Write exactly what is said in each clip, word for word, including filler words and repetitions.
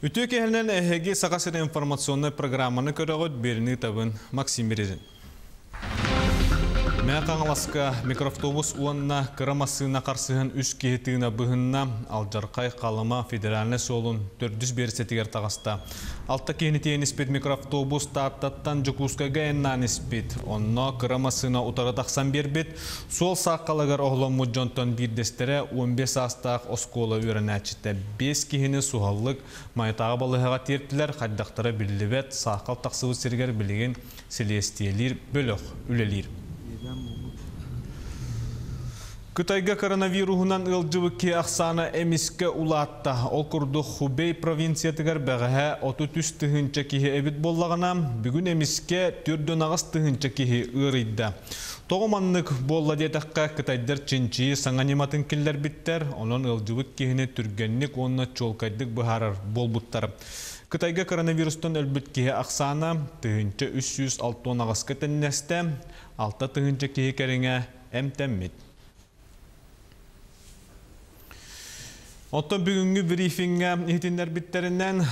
Үтүө киэһэнэн, эһиги Саха сирэ информационнай программаны көрөҕүт, биэриини ыытабын Максим Березин. Мэҥэ Хаҥаласка микроавтобус уонна кыра массыына харсыһан үс киһи тыына быһынна. Алдьархай Халыма федеральнай суолун төрдүс биэрэстэтигэр таҕыста. Алта киһини тиэйэн испит микроавтобус Тааттаттан Дьокуускайга айаннаан испит. Онно кыра массыына утары тахсан биэрбит. Суол саахалыгар оһолломмут дьонтон биирдэстэрэ он бэс саастаах оскуола үөрэнээччитэ. Биэс киһини суһаллык Майатааҕы балыыһаҕа тиэртилэр, хайдахтара биллибэт. Саахал тахсыбыт сиригэр билигин силиэстийэлиир бөлөх үлэлиир. Кытайга коронавируһунан ыалдьыбыт киһи ахсаана эмискэ улаатта. Ол курдук Хубей провинциятыгар бэҕэһээ отут үс тыһыынча киһи эбит буоллаҕына, бүгүн эмискэ түөрт уон аҕыс тыһыынча киһи ыарыйда. Тоҕо маннык буолла диэтэххэ, кытайдар чинчийии саҥа ньыматын киллэрбиттэр, онон ыалдьыбыт киһини түргэнник уонна чуолкайдык быһаарар буолбуттар. Кытайга коронавирустан өлбүт киһи ахсаана тыһыынча үс сүүс алта уон аҕыска тэннэстэ, алта тыһыынча киһи кэриҥэ эмтэммит. Оттон бүгүҥҥү брифиҥҥэ иһитиннэрбиттэринэн,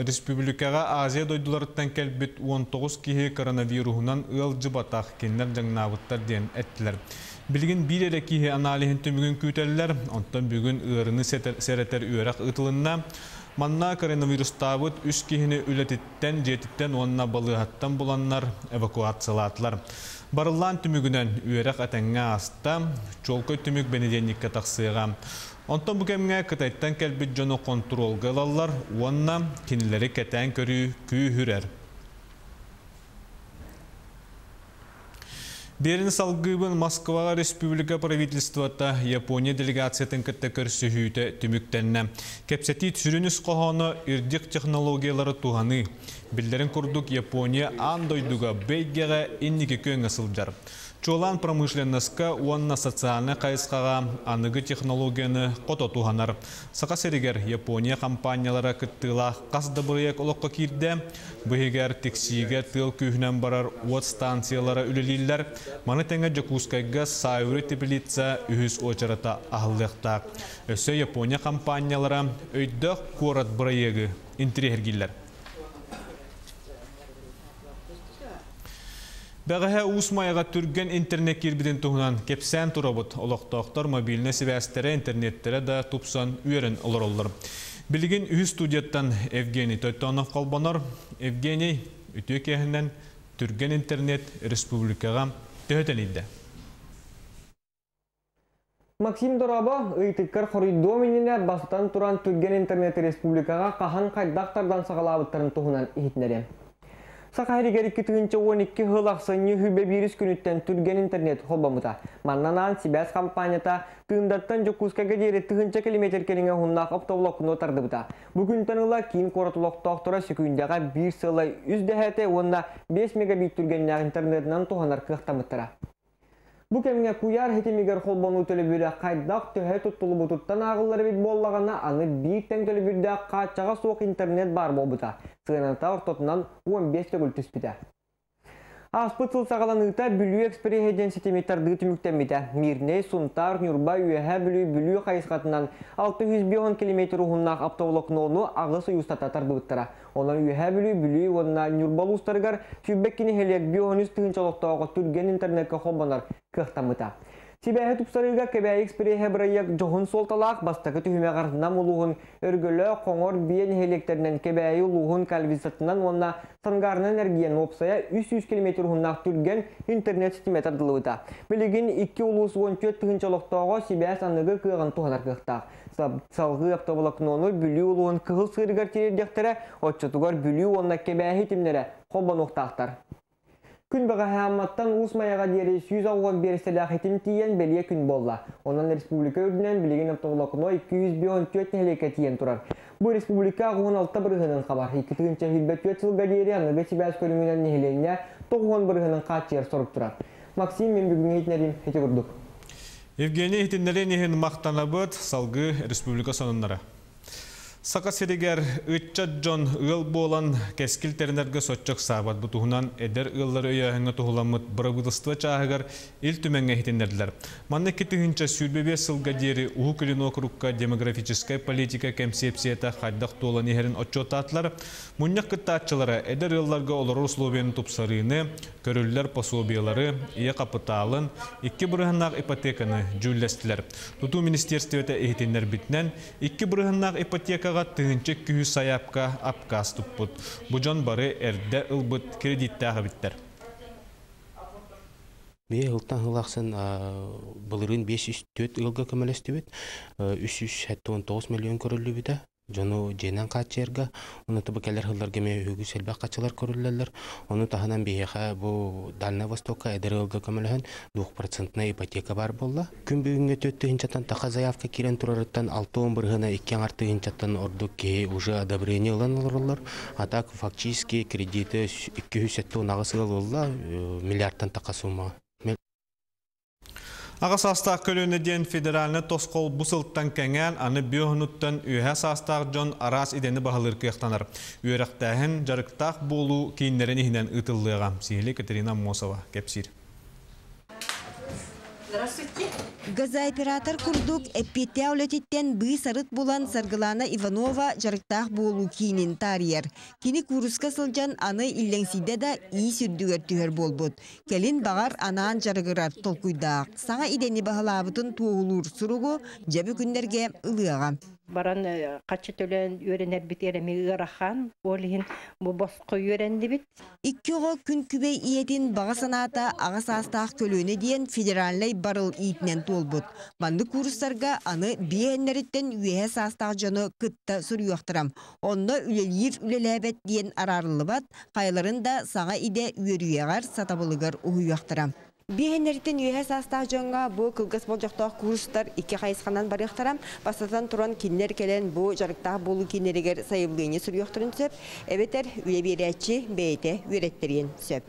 республикаҕа Азия дойдуларыттан кэлбит он тоҕус киһи коронавируһунан ыалдьыбатах, кинилэр дьаҥнаабыттар диэн эттилэр. Билигин биир эрэ киһи аналиһын түмүгүн күүтэллэр, онтон бүгүн ыарыыны сэрэтэр үөрэх ыытылынна. Манна коронавирустаабыт үс киһини үлэтиттэн, дьиэтиттэн уонна балыыһаттан буланнар эвакуациялаатылар. Барыллаан түмүгүнэн үөрэх этэҥҥэ ааста, чуолкай түмүк бэнидиэнньиккэ тахсыаҕа. Онтон бу кэмҥэ Кытайтан кэлбит дьону хонтуруолга ылаллар уонна кинилэри кэтээн көрүү күүһүрэр. Биэриини салгыыбын. Москваҕа республика правительствота Япония делегациятын кытта көрсүһүүтэ түмүктэннэ. Кэпсэтии сүрүн ис хоһооно үрдүк технологиялары туһаныы. Биллэрин курдук Япония аан дойдуга бэйгэҕэ инники күөҥҥэ сылдьар. Чуолаан промышленноска уонна социальнай хайысхаҕа аныгы технологияны хото туһанар. Саха сиригэр Япония компаниялара кыттыылаах хас да бырайыак олоххо киирдэ. Быһыгар тиксиигэ тыал күүһүнэн барар уот станциялара үлэлииллэр. Маны тэҥэ Дьокуускайга Саюри теплица үһүс уочарата аһыллыахтаах. Өссө Япония компаниялара өйдөөх куорат бырайыагы интэриэһиргииллэр. Бэҕэһээ Уус Майаҕа түргэн интернет киирбитин туһунан кэпсээн турабыт. Олохтоохтор мобильнай сибээстэрэ, интернеттэрэ да тупсан үөрэн олороллор. Билигин үһүс студияттан Евгений Тойтонов холбонор. Евгений, үтүө киэһэнэн түргэн интернет республикаҕа төһө тэнийдэ? Максим дорообо, ыйытыккар хоруйдуом иннинэ бастатан туран түргэн интернет республикаҕа хаһан хайдах тардан саҕалаабыттарын туһунан иһитиннэриэм. Саха сиригэр икки тыһыынча уон икки сыл ахсынньы сүүрбэ биирис күнүттэн түргэн интернет холбоммута. Маннанаан сибээс компанията Тыындаттан Дьокуускайга диэри тыһыынча километр кэриҥэ уһуннаах оптоволокно тардыбыта. Бу күнтэн ыла киин куорат олохтоохторо секүндэҕэ биир сыла үс дэһээтэ уонна биэс мегабит түргэннээх интернетинэн туһанар кыахтаммыттара. Бу кэмҥэ куйаар хитимигэр холбонуу төлөбүрэ хайдах төһө туттулубутуттан ааҕыллар эбит буоллаҕына, аны биир тэҥ төлөбүрдээх хааччаҕа суох интернет баар буолбута. Сыаната ортотунан он бэс төгүл түспүтэ. Ааспыт сыл саҕаланыыта Бүлүү экспреһэ диэн ситими тардыы түмүктэммитэ. Мирнэй, Сунтаар, Ньурба, Үөһээ Бүлүү, Бүлүү хайысхатынан алта жүз биэс километр уһуннаах оптоволокнону аҕыс ый устата тардыбыттара. Онон Үөһээ Бүлүү, Бүлүү уонна Ньурба улуустарыгар сүүрбэ икки нэһилиэк биэс жүз тыһыынча олохтооҕо түргэн интернеккэ холбонор кыахтаммыта. Сибээһи тупсарыыга Кэбээйи экспреһэ бырайыак дьоһун суолталаах бастакы түһүмэҕэр Нам улууһун Өргөлөө, Хоҥор, Биэ нэһилиэктэринэн Кэбээйи улууһун Кальвицатынан уонна Сангарынан эргийэн уопсайа үс сүүс километр уһуннаах түргэн интернет ситимэ тардыллыбыта. Билигин икки улуус уон түөрт тыһыынча олохтооҕо сибээс аныгы кыаҕын туһанар кыахтаах. Салгыы оптоволокнону Бүлүү улууһун Кыһыл Сыырыгар тириэрдиэхтэрэ, оччотугар Бүлүү уонна Кэбээйи ситимнэрэ холбонуохтаахтар. Күн бэҕэһээ Амматтан Уус Майаҕа диэри сүүс алта уон биэрэстэлээх хитим тиийэн бэлиэ күн буолла. Онон республика үрдүнэн билигин оптоволокно икки жүз биэс уон түөрт нэһилиэккэ тиийэн турар. Бу республика уон алта бырыһыанын хабар. Икки тыһыынча сүүрбэ түөрт сылга диэри аныгы сибээс көрүҥүнэн нэһилиэнньэ тоҕус уон бырыһыанын хааччыйар сорук турар. Максим, мин бүгүҥҥү иһитиннэриим ити курдук. Евгений иһитиннэрин иһин мактанабыт, салгыы республика сонуннара. Саха сиригэр ыччат дьон ыал буолан кэскил тэринэргэ соччо ыксаабат. Бу туһунан эдэр ыаллары өйөөһүҥҥэ туһуламмыт бырабыыталыстыба чааһыгар Ил Түмэҥҥэ иһитиннэрдилэр. Манна икки тыһыынча сүүрбэ биэс сылга диэри Уһук Илин уокурукка демографическай политика кэмсиэпсийэтэ хайдах туолан иһэрин отчуоттаатылар. Мунньах кыттааччылара эдэр ыалларга олорор условияны тупсарыыны, көрүллэр пособиелары, ийэ хапытаалын, икки бырыһыаннаах ипотеканы дьүүллэстилэр. Тутуу министиэристибэтэ иһитиннэрбитинэн, икки бырыһыаннаах ипотекаҕа тыһыынча икки сүүс сайаапка апкаас туппут. Бу дьон бары эрдэ ылбыт кредиттээх эбиттэр. Бие ылтан хылахсын былырын бес жүз төрт ылга көмөлөстүбүт, үс жүз сэттэ уон тоҕус миллион көрүллүбүтэ. Дьону дьиэнэн хааччыйарга, ону тобу кэлэр хылларга эмиэ үгүс элбэх хаччылар көрүллэллэр. Ону таһынан биһиэхэ бу Дальнай Востокка эдэр ыалга көмөлөһөн двухпроцентная ипотека бар буолла. Күн бүгүҥҥэ төрт тыһыынчаттан таха заявка киирэн турарыттан алта уон бырыһыана, икки аҥар тыһыынчаттан ордук киһи уже одобрение ылан олороллор. А так фактически кредиты икки жүз сэттэ уон аҕыс ыал ылла, миллиардтан таха сумма. Аҕа саастаах көлүөнэ диэн федеральнай тосхол бу сылтан кэҥээн, аны биэс уонуттан үөһэ саастаах дьон араас идэни баһылыыр кыахтанар. Үөрэхтээһин дьарыктаах буолуу кииннэрин иһинэн ыытыллыаҕа. Сиһилии Катерина Аммосова кэпсиир. Здравствуйте. Газооператор курдук эппиэттээх үлэтиттэн быыс-арыт булан Саргылана Иванова дьарыктаах буолуу киинин таарыйар. Кини кууруска сылдьан аны иллэҥсийдэ да иис үрдүгэр түһэр буолбут. Кэлин баҕар анаан дьарыгырар толкуйдаах. Саҥа идэни баһылаабытын туоһулуур суругу дьэ бу күннэргэ ылыаҕа. Баран харчы төлөөн үөрэнэрбит эми ыарахан, ол иһин бу босхо үөрэннибит. Икки оҕо күн күбэй ийэтин баҕа санаата аҕа саастаах көлүөнэ диэн федеральнай барыл иитинэн туолбут. Маннык куурустарга аны биэһиннэриттэн үөһэ саастаах дьону кытта суруйуохтара. Онно үлэлиир үлэлээбэт диэн араарыллыбат, хайаларын да саҥа идэ үөрүйэҕэр сатабылыгар уһуйуохтара. Биэһиннэриттэн үөһэ саастаах дьоҥҥо бу кылгас болдьохтоох куурустар икки хайысханан барыахтара. Бастатан туран кинилэр кэлэн бу дьарыктаах буолуу кииннэригэр сайабылыанньа суруйуохтарын сөп, эбэтэр үлэ биэрээччи бэйэтэ үөрэттэриэн сөп.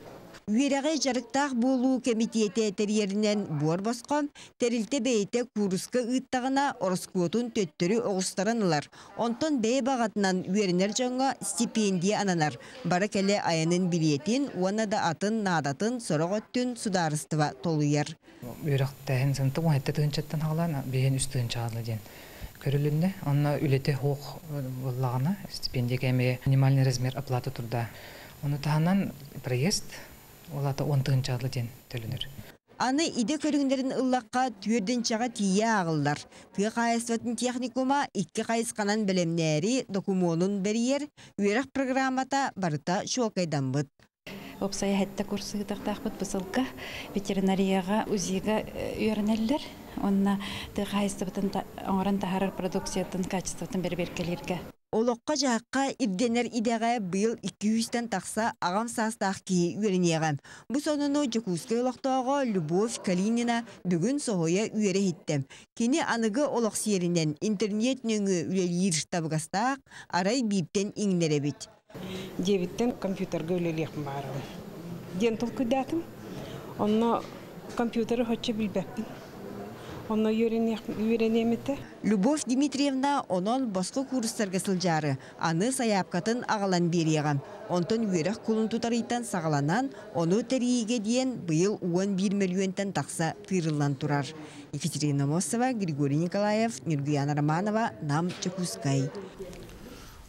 Үөрэҕи дьарыктаах буолуу кэмитиэтэ тэрийэринэн буор босхо, тэрилтэ бэйэтэ кууруска ыыттаҕына ороскуотун төттөрү оҕустаран ылар. Онтон бэйэ баҕатынан үөрэнэр дьоҥҥо стипендия ананар. Бара кэлэ айанын билиэтин уонна да атын наадатын сорох өттүн судаарыстыба толуйар. Үөрэхтээһин сыната уон сэттэ тыһыынчаттан саҕалаан биэс үс тыһыынчаҕа диэн көрүлүннэ. Онно үлэтэ суох буоллаҕына стипендия кээмэйэ минимальный размер оплаты труда. Ону таһынан проезд ол аата уон тыһыынчаҕа диэн төлөнөр. Аны идэ көрүҥнэрин ыллахха түөртүнчэҕэ тиийэ ааҕыллар. Тыа хаһаайыстыбатын техникума икки хайысханан бэлэмнээри докумуонун бэрийэр, үөрэх программата барыта чуолкайдаммыт. Уопсайа сэттэ курс ыытыахтаахпыт бу сылга ветеринарияҕа УЗИга үөрэнэллэр. Онно тыа хаһаайыстыбатын оҥорон таһаарар продукциятын качествотын бэрэбиэркэлииргэ. Олоххо дьаһахха ирдэнэр идэҕэ быйыл икки сүүстэн тахса аҕам саастаах киһи үөрэниэҕэ. Бу сонуну Дьокуускай олохтооҕо Любовь Калинина бүгүн соһуйа үөрэ иһиттэ. Кини аныгы олох сиэринэн интернет нөҥүө үлэлиир табыгастаах, арай бииртэн иҥнэр эбит. Дьиэбиттэн компьютерга үлэлиэхпин баҕарабын диэн толкуйдаатым. Онно компьютеры соччо билбэппин. Онно үөрэниэм этэ. Любовь Дмитриевна онон босхо куурустарга сылдьаары, аны сайаапкатын аҕалан биэриэҕэ. Онтон үөрэх кулун тутар ыйтан саҕаланан, ону тэрийиигэ диэн быйыл уон биир мөлүйүөнтэн тахса тыырыллан турар. Екатерина Мосова, Григорий Николаев, Нюргуяна Романова, Нам, Дьокуускай.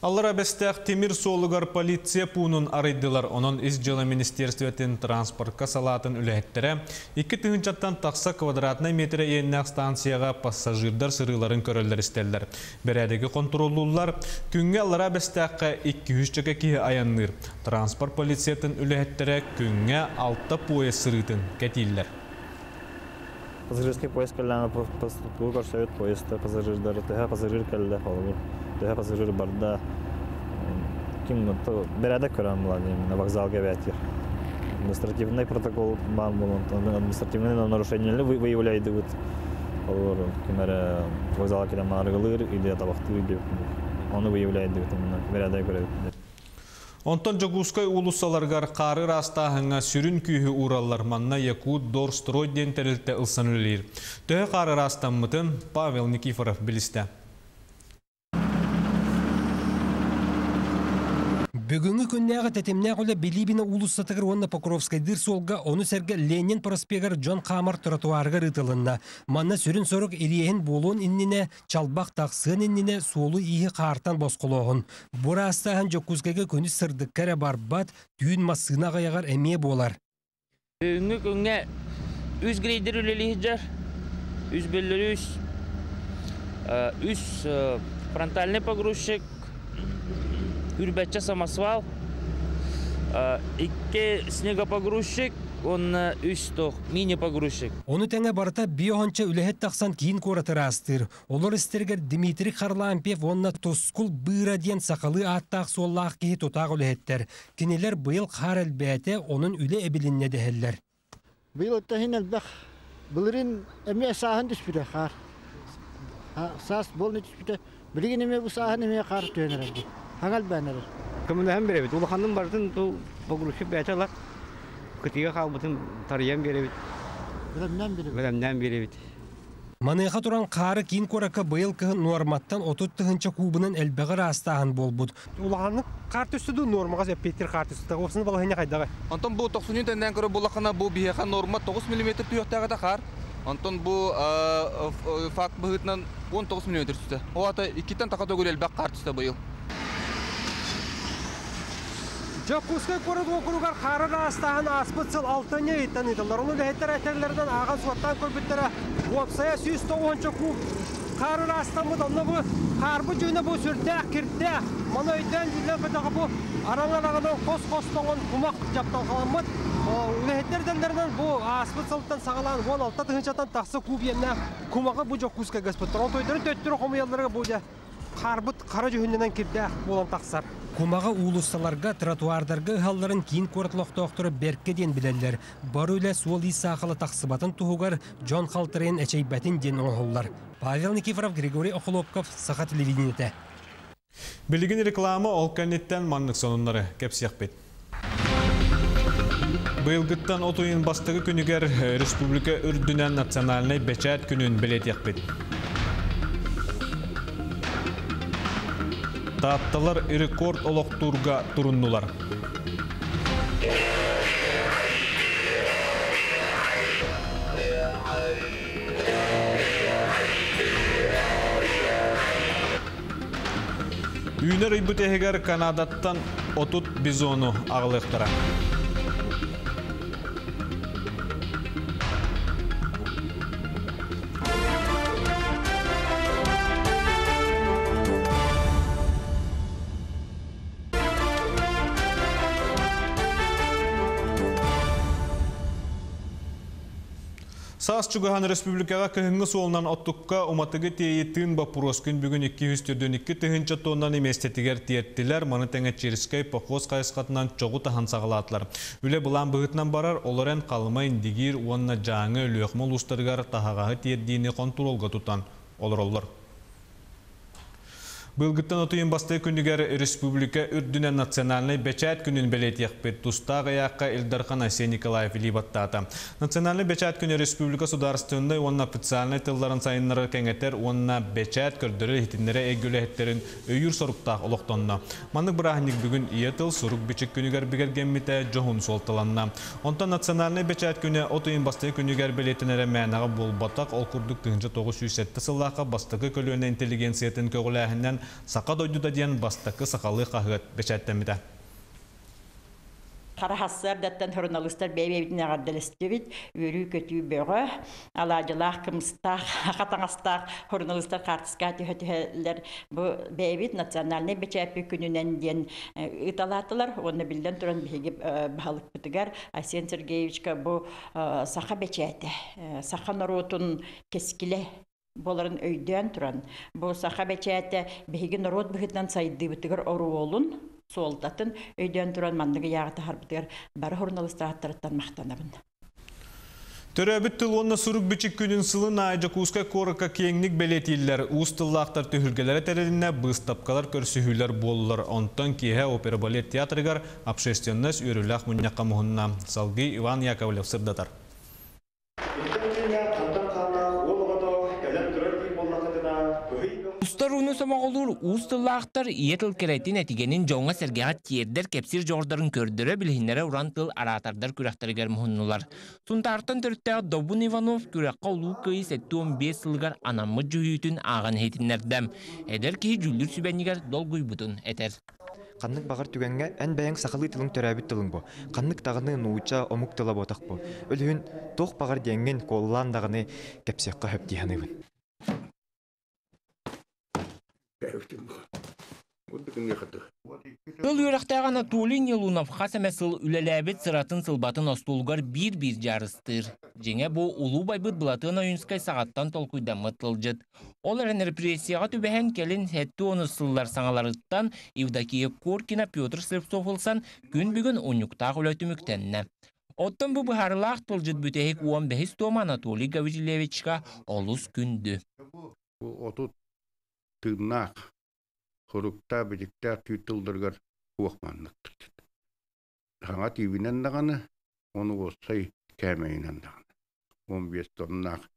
Аллараа Бэстээх тимир суолугар полиция пуунун арыйдылар. Онон Ис дьыала министиэристибэтин транспортка салаатын үлэһиттэрэ икки тыһыынчаттан тахса квадратнай метр иэннээх станцияҕа пассажирдар сырыыларын көрөллөр-истэллэр. Бэрээдэги хонтуруоллууллар. Күҥҥэ Аллараа Бэстээххэ икки сүүсчэкэ киһи айанныыр. Транспорт полициятын үлэһиттэрэ күҥҥэ алта поезд сырыытын кэтииллэр. Пассажирский поезд кэллэҕинэ көрсөбүт поезд пассажирдары төһө пассажир кэллэ холобур төһө пассажир барда ким бэрээдэк көрөн буолан именно вокзалга бээтир административный протокол баар буолан административный нарушение выявляйдыбыт холобур ким эрэ вокзалга кэлэн арыгылыыр или табахтыыр диэбит ону выявляйдыбыт именно бэрээдэк көрөбүт. Онтон Дьокуускай уулуссаларыгар хаары ыраастааһыҥҥа сүрүн күүһү уураллар. Манна Якутдорстрой диэн тэрилтэ ылсан үлэлиир. Төһө хаары ыраастаммытын Павел Никифоров билистэ. Бүгүҥҥү күннээҕи тэтимнээх үлэ Билибина уулуссатыгар уонна Покровскайдыыр суолга, ону сэргэ Ленин проспегар дьон хаамар тротуарыгар ыытылынна. Манна сүрүн сорук ириэһин буолуон иннинэ, чалбах тахсыан иннинэ суолу-ииһи хаартан босхолооһун. Бу ыраастааһын Дьокуускайга күнүс сырдыкка эрэ барбат, түүн массыына аҕыйаҕар эмиэ буолар. Бүгүҥҥү күҥҥэ үс грейдер үлэлии сылдьар, үс бөллөрүс, үс фронтальный погрузчик, үрбэччэ самосвал, икки снегопогрузчик, уонна үс тох мини-погрузчик. Ону тэҥэ барыта биэс уонча үлэһит тахсан киин куораты ыраастыыр. Олор истэригэр Дмитрий Харлампьев уонна Тускул Быыра диэн сахалыы ааттаах-суоллаах киһи тутаах үлэһиттэр. Кинилэр быйыл хаар элбээтэ, онон үлэ эбилиннэ дэһэллэр. Быйыл оттон элбэх. Былырыын эмиэ сааһын түспүтэ хаар. Саас буолан түспүтэ. Билигин эмиэ бу сааһын эмиэ хаар түһэн эрэр. Хаҥал бээн эрэр. Көмөлөһөн биэрэбит. Улаханын барытын ту погрузчик бэйэтэ ылар. Кытыыга хаалбытын тарыйан биэрэбит. Бэлэмнээн биэрэбит. Бэлэмнээн биэрэбит. Маныаха туран хаары киин куоракка быйыл кыһын нуорматтан отут тыһыынча куубунан элбэҕи ыраастааһын буолбут. Улаханнык хаар түстэ дуу, нуормаҕа эппиэттиир хаар түстэ. Уопсайынан балаһыанньа хайдаҕый? Онтон бу тохсунньу тэннээн көрөр буоллаххына, бу биһиэхэ норма тоҕус миллиметр түһүөхтээх этэ хаар. Онтон бу факт быһыытынан он тоҕус миллиметр түстэ. Ол аата иккиттэн таха төгүл элбэх хаар түстэ быйыл. Дьокуускай куорат уокуругар хаары ыраастааһын ааспыт сыл алтынньы ыйыттан ыытыллар. Ону үлэһиттэр этэллэринэн ааҕан суоттаан көрбүттэрэ уопсайа сүүс тоҕуонча куб хаары ыраастаммыт. Онно бу хаарбыт дьүһүнэ бу сүрдээх кирдээх. Маны өйдөөн дьүллэн көтөҕө бу араҥа-араҥанан хос-хос тоҥон кумах дьапталҕаламмыт. Үлэһиттэр этэллэринэн бу ааспыт сылтан саҕалаан уон алта тыһыынчаттан тахса куб иэннээх кумаҕы бу Дьокуускайга ыспыттар. Онтон төттөрү хомуйалларыгар бу дьэ хаарбыт хара дьүһүнүнэн кирдээх буолан тахсар. Кумаҕы уулуссаларга, тротуардарга ыһалларын киин куорат олохтоохторо бэркэ диэн билэллэр. Бары үлэ суол-иис саахала тахсыбатын туһугар дьон халтарыйан эчэйбэтин диэн оҥоһуллар. Павел Никифоров, Григорий Охлопков, Саха телевидениетэ. Билигин реклама ол кэнниттэн маннык сонуннары кэпсиэхпит. Быйылгыттан отуйун бастакы күнүгэр республика үрдүнэн национальнай бэчээт күнүн бэлиэтиэхпит. Таатталар рекорд олохтуурга туруннулар. Үүнэр ыйбыт эһигэр Канадаттан отут бизону аҕалыахтара. Саас чугаһан республикаҕа кыһыҥҥы суолунан оттукка уматыгы тиэйи тыын боппуруос күн бүгүн икки жүз төрдүн икки тыһыынча тоннаны миэстэтигэр тиэртилэр, маны тэҥэ Черскэй похуос хайысхатынан чоҕу таһан саҕалаатылар. Үлэ былаан быһыытынан барар, олор эн Халыма, Индигиир уонна Дьааҥы Өлүөхүмэ улуустарыгар таһаҕаһы тиэрдиини хонтуруолга тутан олороллор. Быйылгыттан отуйун бастакы күнүгэр республика үрдүнэн национальнай бэчээт күнүн бэлиэтиэхпит. Тустаах ыйаахха Ил Дархан Айсен Николаев илии баттаата. Национальнай бэчээт күнэ республика судаарыстыбаннай уонна официальнай тылларын сайыннарар кэҥэтэр уонна бэчээт көрдөрөр иһитиннэрэ эйгэ үлэһиттэрин өйүүр соруктаах олохтонно. Маннык бырааһынньык бүгүн ийэ тыл сурук бичик күнүгэр бигэргэммитэ дьоһун суолталанна. Онтон национальнай бэчээт күнэ отуйун бастакы күнүгэр бэлиэтэнэрэ мээнэҕэ буолбатах, ол курдук тыһыынча тоҕус сүүс сэттэ сыллаахха бастакы көлүөнэ интеллигенциятын көҕүлээһинэн Саха дойдута диэн бастакы сахалыы хаһыат бэчээттэммитэ. Хараһассыардаттан журналистар бэйбэйбитин эҕэрдэлэстибит, үөрүү көтүү бөҕө, алаадьылаах, кымыстаах, хатаҥастаах журналистар хаартыска түһэ-түһэллэр. Бу бэйэбит национальнай бэчээппит күнүнэн диэн ыыталаатылар. Уонна биллэн туран биһиги баһылыкпытыгар Айсен Сергеевичка бу саха бэчээтэ, саха норуотун кэскилэ буоларын өйдөөн туран, бу саха бэчээтэ биһиги норуот быһыытынан сайдыыбытыгар оруолун, суолтатын өйдөөн туран манныгы яаҕы таһарбытыгар бары журналистааттарыттан махтанабын. Төрөөбүт тыл уонна сурук бичик күнүн сылын аайы Дьокуускай куоракка киэҥник бэлиэтииллэр. Уус тыллаахтар түһүлгэлэрэ тэрилиннэ, быыстапкалар көрсүһүүлэр буоллулар. Онтон киэһэ опера балет театрыгар общественность үөрүүлээх мунньахха муһунна. Салгыы Иван Яковлев сырдатар. Хотугуну сомоҕолуур уус тыллаахтар ийэ тыл кэрэтин этигэнин дьоҥҥо сэргэҕэ тиэрдэр кэпсиир дьоҕурдарын көрдөрө билиһиннэрэ уран тыл араатардар күрэхтэригэр муһуннулар. Сунтаартан төрүттээх Добун Иванов күрэххэ улуу Кыайыы сэттэ уон биэс сылыгар анаммыт дьүһүйүүтүн ааҕан иһитиннэрдэ. Эдэр киһи дьүүллүүр сүбэнигэр долгуйбутун этэр. Ханнык баҕар түгэҥҥэ эн бэйэҥ сахалыы тылыҥ төрөөбүт тылыҥ бу. Ханнык даҕаны нуучча омук тыла буотах бу. Өлүһүн туох баҕар диэҥҥин куоллаан даҕаны кэпсиэххэ сөп дии саныыбын. Тыл үөрэхтээх Анатолий Нелунов хас эмэ сыл үлэлээбит сыратын сылбатын остуолугар биир-биир дьаарыстыыр. Дьиҥэ бу улуу байбыт Былатыан Ойуунскай саҕаттан толкуйдаммыт тылдьыт. Ол эрэн репрессияҕа түбэһэн кэлин сэттэ уон сыллар саҥаларыттан Евдокия Коркина, Петр Слепцов ылсан күн бүгүн унньуктаах үлэ түмүктэннэ. Оттон бу быһаарылаах тылдьыт бүтэһик уон бэһис туома Анатолий Гаврильевичка олус күндү. Отут тыыннаах, хоруктаа, бичиктээх түүр тылларыгар хуохманныктыр. Хаҥа тиибинэн даҕаны, ону уоссай кээмэйинэн даҕаны. Он биэс тоннаах.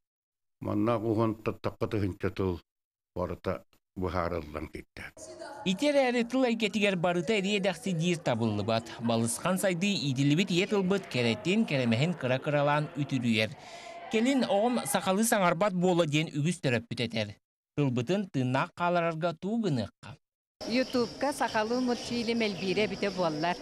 Маннаах уһун таттакка тыһынча тыл барыта быһаарыллан киттэ. Ити эрээри тыл эйгэтигэр барыта эриэ-дэхси диир табыллыбат. Балысхан сайдыы иитиллибит ийэ тылбыт кэрэтин, кэрэмэһин кыра-кыралаан үтүрүйэр. Кэлин оҕом сахалыы саҥарбат буола диэн үгүс төрөппүт этэр. Тылбытын тыыннаах хааларарга туу гыныахха. Ютубка сахалыы мультфильм элбиирэ бүтэ буоллар.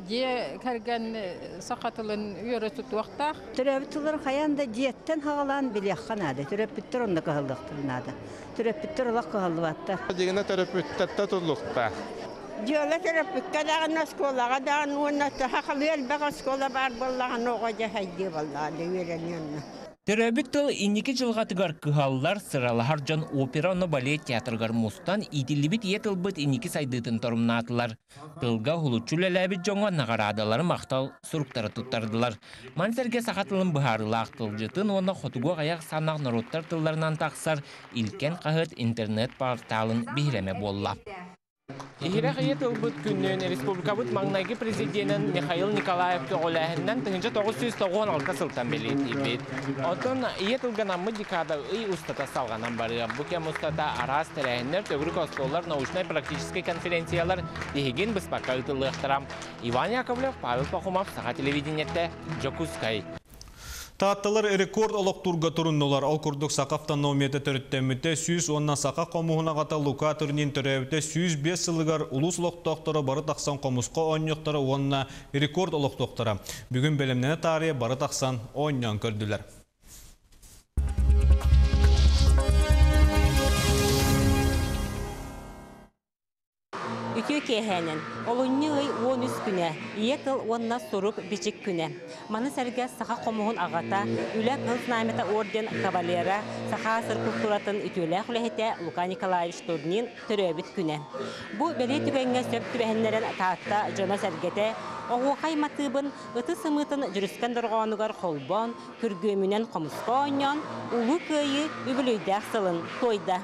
Дьиэ кэргэн саха тылын үөрэ тутуохтаах. Төрөөбүт тылларын хайаан да дьиэттэн хаҕалаан билиэххэ наада. Төрөппүттэр онно кыһаллыахтарын наада. Төрөппүттэр олох кыһаллыбаттар. Дьиҥинэ төрөппүттэртэ туллуктаах. Дьиэлэ төрөппүккэ даҕаны оскуолаҕа даҕаны уонна сахалыы элбэх оскуола баар буоллаҕына оҕо дьэ хайдыы буоллаҕына үөрэниэн. Төрөөбүт тыл инники дьылҕатыгар кыһаллар, сыралаһар дьон опера онно балет театрыгар мустан иитиллибит ийэ тылбыт инники сайдыытын торумнаатылар. Тылга уһулуччу үлэлээбит дьоҥҥо наҕараадалары махтал суруктары туттардылар. Маны сэргэ саха тылын быһаарыылаах тылдьытын уонна хотугу аҕыйах санаах норуоттар тылларынан тахсар Илкэн хаһыат интернет-порталын биһирэме буолла. Иһирэх ийэ тылбыт күнүн республикабыт маҥнайгы президенин Михаил Николаев көҕүлээһининэн тыһыынча тоҕус сүүс тоҕуон алта сылтан бэлиэтиибит. Оттон ийэ тылга декада ый устата салҕанан барыа. Бу кэм устата араас тэрээһиннэр, төгүрүк остуоллар, научнай-практическай конференциялар тиһигин быспакка ыытыллыахтара. Иван Яковлев, Павел Пахомов, Саха телевидениетэ, Дьокуускай. Таатталар рекорд олохтуурга туруннулар. Ол курдук саха автономията төрүттэммитэ сүүс уонна саха хомуһун аҕата Лука Турнин төрөөбүтэ сүүс биэс сылыгар улуус олохтоохторо бары тахсан хомуска оонньуохтара уонна рекорд олохтуохтара. Бүгүн бэлэмнэнэ таарыйа бары тахсан оонньоон көрдүлэр. Үтүө киэһээнэн, олунньу ый уон үс күнэ, ийэ тыл уонна сурук бичик күнэ. Маны сэргэ саха хомуһун аҕата, үлэ кыһыл знамята орден кавалера, саха сыр культуратын үтүөлээх үлэһитэ Лука Николаевич Турнин төрөөбүт күнэ. Бу бэлиэ түгэҥҥэ сөп түбэһиннэрэн Таатта дьоно сэргэтэ, оһуохай матыыбын ыты сымыытын дьүрүскэн дорҕоонугар холбоон, күргүөмүнэн хомуска оонньоон, улуу Кыайыы үбүлүөйдээх сылын туойда.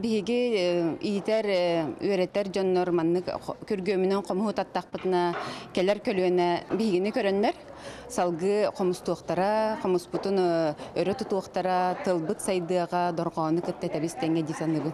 Биһиги иитэр, үөрэтэр дьоннор маннык күргүөмүнэн хомуһу таттахпытына кэлэр көлүөнэ биһигини көрөннөр салгыы хомустуохтара, хомуспутун өрө тутуохтара, тылбыт сайдыаҕа, дорҕоону кытта тэбис тэҥҥэ дии саныыбын.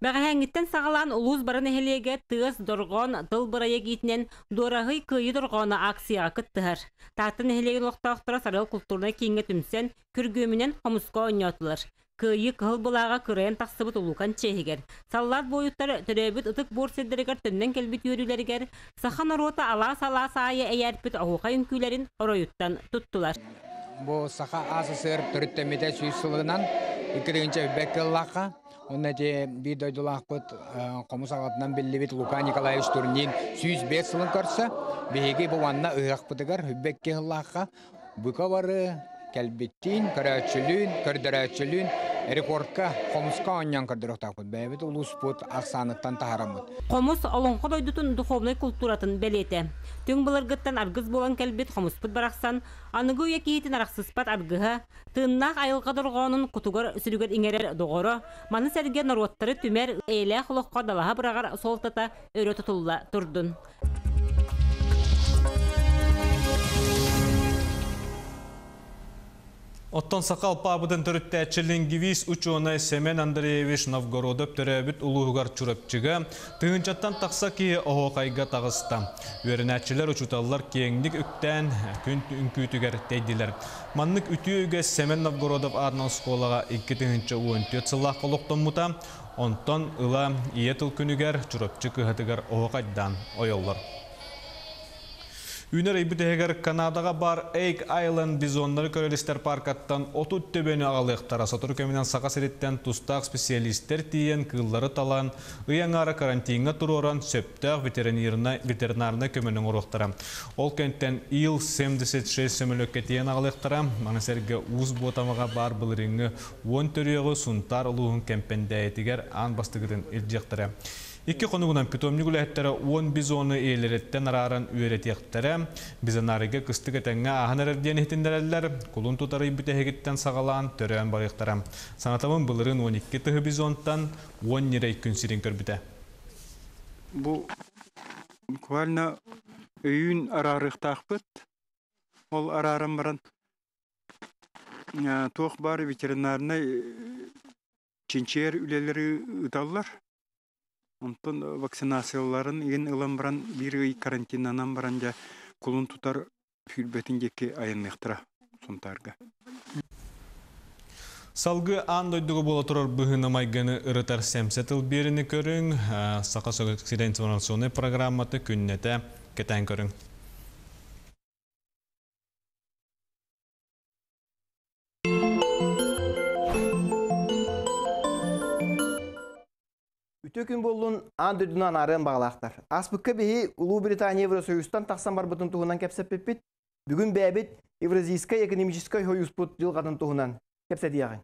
Бэҕэһээҥҥиттэн саҕалаан улуус бары нэһилиэгэ тыас дорҕоон тыл бырайыак иитинэн Дуораһый Кыайыы дорҕооно акцияҕа кыттыһар. Таатта нэһилиэгин олохтоохторо Сарыал культурнай кииҥҥэ түмсэн, күргүөмүнэн хомуска оонньоотулар. Кыайыы кыһыл былааҕа кырайан тахсыбыт улуукан чиэһигэр, саллаат буойуттар төрөөбүт ытык буор сирдэригэр төннөн кэлбит үөрүүлэригэр саха норуота алаас-алаас аайы эйээрпит оһуохай үҥкүүлэрин оройуттан туттулар. Бу саха АССР төрүттэммитэ сүүс сылынан икки тыһыынча үбэк кыллаахха онно эти биир дойдулаахпыт хомус аҕатынан биллибит Лука Николаевич Турнин сүүс биэс сылын көрсө биһиги бу уонна ыһыахпытыгар үбэкки кыллаахха бука бары кэлбиттиин, көрөөччүлүүн, көрдөрөөччүлүүн Рекордка хомуска оонньоон көрдөрүөхтээхпит. Бэйэбит улууспут ахсааныттан таһаараммыт. Хомус олоҥхо дойдутун духовнай култууратын бэлиэтэ. Түҥ былыргыттан аргыс буолан кэлбит хомуспут барахсан аныгы үйэ киһитин арахсыспат аргыһа, тыыннаах айылҕа дорҕоонун кутугар сүрүгэр иҥэрэр доҕоро, маны сэргэ норуоттары түмэр эйэлээх олоххо далаһа быраҕар суолтата өрө тутулла турдун. Оттон саха алпаабытын төрүттээччи лингвист учуонай Семен Андреевич Новгородов төрөөбүт улууһугар Чурапчыга тыһыынчаттан тахса киһи оһуохайга таҕыста. Үөрэнээччилэр, учууталлар киэҥник үктээн күн үҥкүүтүгэр тэйдилэр. Маннык үтүө үгэс Семен Новгородов аатынан оскуолаҕа икки тыһыынча уон түөрт сыллаахха олохтоммута. Онтон ыла ийэ тыл күнүгэр Чурапчы кыһатыгар оһуохайдаан ойоллор. Үүнэр ый бүтэһигэр Канадаҕа баар Эйк Айленд бизоннары көрөр-истэр паркаттан отут төбөнү аҕалыахтара. Сотору кэминэн Саха сириттэн тустаах специалистэр тиийэн кыыллары талан, ый аҥаара карантиҥҥа туруоран сөптөөх ветеринарнай көмөнү оҥоруохтара. Ол кэнтэн Ил семьдесят шесть сөмөлүөккэ тиийэн аҕалыахтара. Маны сэргэ Уус Буотамаҕа баар былырыыҥҥы уон төрүөҕү Сунтаар улууһун Кэмпэндээйитигэр аан бастакытын илдьиэхтэрэ. Икки хонугунан питомник үлэһиттэрэ уон бизоны иэлэриттэн арааран үөрэтиэхтэрэ. Бизонарийга кыстык этэҥҥэ ааһан эрэр диэн иһитиннэрэллэр. Кулун тутар ый бүтэһигиттэн саҕалаан төрөөн барыахтара. Санатабын былырыын уон икки тыһы бизонтан уон ньирэй күн сирин көрбүтэ. Бу буквально өйүүн араарыахтаахпыт. Ол арааран баран туох баар ветеринарнай чинчийэр үлэлэри ыыталлар. Онтон вакцинацияларын игин ылан баран биир ый карантинанан баран дьэ кулун тутар сүүрбэтин диэки айанныахтара Сунтаарга. Салгыы аан дойдуга буола турар быһыыны майгыны ырытар сэмсэ тыл биэрини көрүҥ, Саха сирин информационнай программата күннэтэ кэтээн көрүҥ. Үтө күн боллун аан дойдунан арыан бағалақтар. Аспыкка биһи Улуу Британия Евросоюзтан тахсан барбытын туһунан кэпсэппиппит. Бүгүн бэйэбит Евразийскай экономическай союзпут дьылҕатын туһунан кэпсэтиэҕиҥ.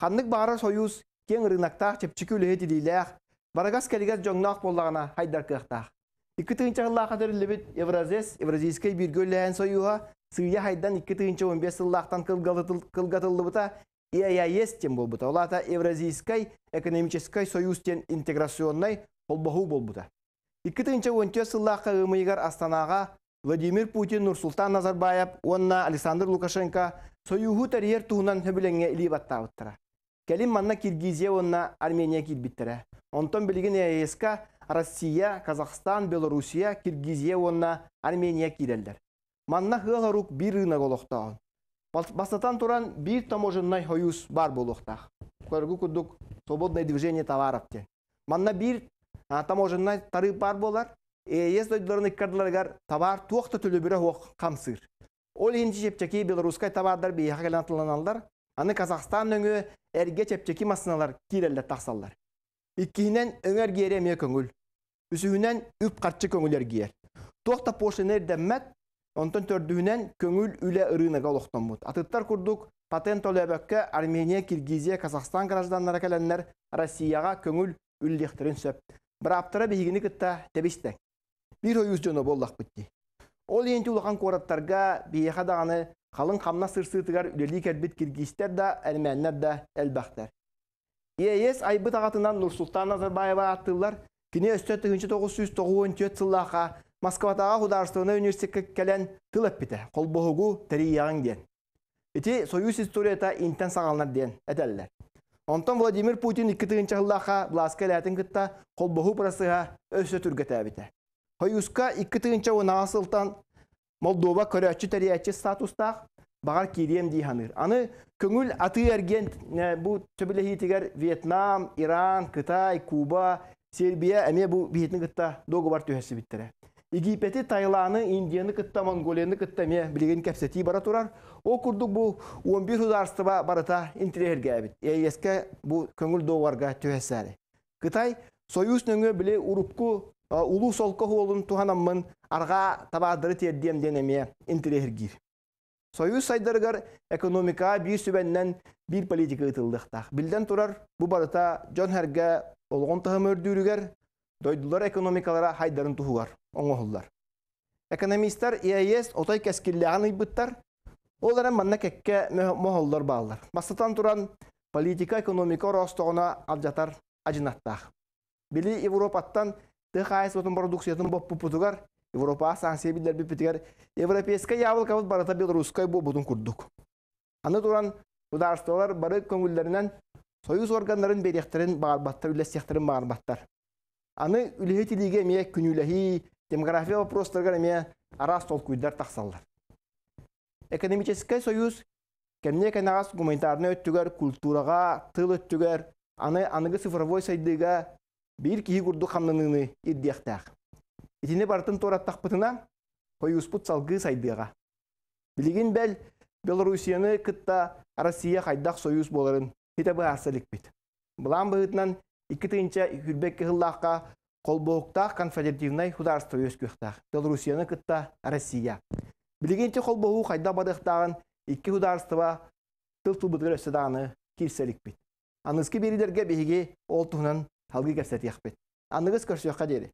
Ханнык баҕарар союз киэҥ ырыынактаах, чэпчэки үлэһит илиилээх, барагас кэлигэр дьоҥноох буоллаҕына хайдар кыахтаах. Икки тыһыынча сыллаахха тэриллибит Евразес, Евразийскай бииргэ үлэлэһэн союһа сыыйа хайдан икки тыһыынча он биэс сыллаахтан кылгатыллыбыта Е А Э С диэн буолбута. Ол аата Евразийскай экономическай союз диэн интеграционнай холбоһуу буолбута. Икки тыһыынча он түөрт сыллаахха ыамыйыгар Астанаҕа Владимир Путин, Нурсултан Назарбаев уонна Александр Лукашенко союһу тэрийэр туһунан сөбүлэҥҥэ илии баттаабыттара. Кэлин манна Киргизия уонна Армения киирбиттэрэ. Онтон билигин Е А Э С-ка Россия, Казахстан, Белоруссия, Киргизия уонна Армения киирэллэр. Манна сыал-сорук биир рынок олохтооҕун. Бастатан туран биир таможеннай союз бар буолуохтаах. Көргү курдук свободное движение товаров диэн. Манна биир таможеннай тарыып бар буолар. Е Э С дойдуларын ыккардыларыгар товар туох да төлөбүрэ суох хамсыыр. Ол иһин чэпчэки белорусскай товардар биһиэхэ кэлэн атыланаллар. Аны Казахстан өҥө эргэ чэпчэки массыыналар киирэллэр тахсаллар. Иккиһинэн өҥө эргиэрэ эмиэ көҥүл. Үсүһүнэн үп харчы көҥүл эргиэр. Туох да пошлина ирдэммэт, онтон төрдүһүнэн көҥүл үлэ ырыынага олохтоммут. Атыттар курдук патент төлөөбөккө Армения, Киргизия, Казахстан гражданнара кэлэннэр Россияҕа көҥүл үллиэхтэрин сөп. Бырааптара биһигини кытта тэбистэҥ. Биир союз дьоно буоллахпыт дии. Ол иһин улахан куораттарга биһиэхэ даҕаны халыҥ хамнас сырсыытыгар үлэлии кэлбит киргизтэр да, эрмээннэр да элбэхтэр. Е А Э С айбыт аҕатынан Нурсултан Назарбаева ааттыыллар. Кини өстө тыһыынча тоҕус сүүс тоҕус түөрт сыллаахха Москватааҕы художественнай университекка кэлэн тыл эппитэ, холбоһугу тэрийиэҕиҥ диэн. Ити союз историята интэн саҕаланар диэн этэллэр. Онтон Владимир Путин икки тыһыынча сыллаахха былааска элээтин кытта холбоһуу процеһа өссө түргэтээбитэ. Союзка икки тыһыынча уон аҕыс сылтан Молдова көрөөччү тэрийээччи статустаах, баҕар киириэм дии саныыр. Аны көҥүл атыы эргиэн бу сөбүлэһиитигэр Вьетнам, Иран, Кытай, Куба, Сербия эмиэ бу биһитин кытта договор түһэсибиттэрэ. Египети, Таиланы, Индияны кытта, Монголияны кытта эмиэ билигин кэпсэтии бара турар. Ол курдук бу он биир государство барыта интириэһиргээбит. Е Э С-ка бу көҥүл договорга түһэсээри. Кытай союз нөҥүө били урукку улуу солко хуолун туһанаммын арҕаа табаардары тиэрдиэм диэн эмиэ интириэһиргиир. Союз сайдарыгар экономика биир сүбэннэн Биир политика ыытыллыахтаах. Биллэн турар, бу барыта дьон-сэргэ олоҕун таһыма үрдүүрүгэр, дойдулар экономикалара хайдарын туһугар оҥоһуллар. Экономистар ЕАЭС отой кэскиллээҕин ыйбыттар, ол эрэн манна кэккэ моһоллор бааллар. Бастатан туран, политика экономика ороостоҕуна алдьатар адьынаттаах. Били Европаттан тыа хаһаайыстыбатын бородууксуйатын боппуппутугар, Европаҕа санкция биллэрбиппитигэр европейскай яблокабыт барыта белорусскай буолбутун курдук. Аны туран, судаарыстыбалар бары көҥүллэринэн союз органнарын биэриэхтэрин баҕарбаттар, үллэстиэхтэрин баҕарбаттар. Аны үлэһит илиигэ эмиэ күнүүлэһии, демография вопростарыгар эмиэ араас толкуйдар тахсаллар. Экономическай союз кэмниэ кэнэҕэс гуманитарнай өттүгэр, культураҕа, тыл өттүгэр, аны аныгы цифровой сайдыыга биир киһи курдук хамнаныыны ирдиэхтээх. Итини барытын туораттахпытына, союзпут салгыы сайдыаҕа. Билигин бэл Белоруссияны кытта Россия хайдах союз буоларын ситэ быһаарса иликпит. Былаан быһыытынан икки тыһыынча сүүрбэ икки сыллаахха холбоһуктаах конфедеративнай государство үөскүөхтээх. Белоруссияны кытта Россия. Билигин ити холбоһуу хайдах барыахтааҕын икки государство тыл тылбытыгар өссө даҕаны киирсэ иликпит. Аныгыскы биэриилэргэ биһиги ол туһунан салгыы кэпсэтиэхпит. Аныгыс көрсүөххэ диэри.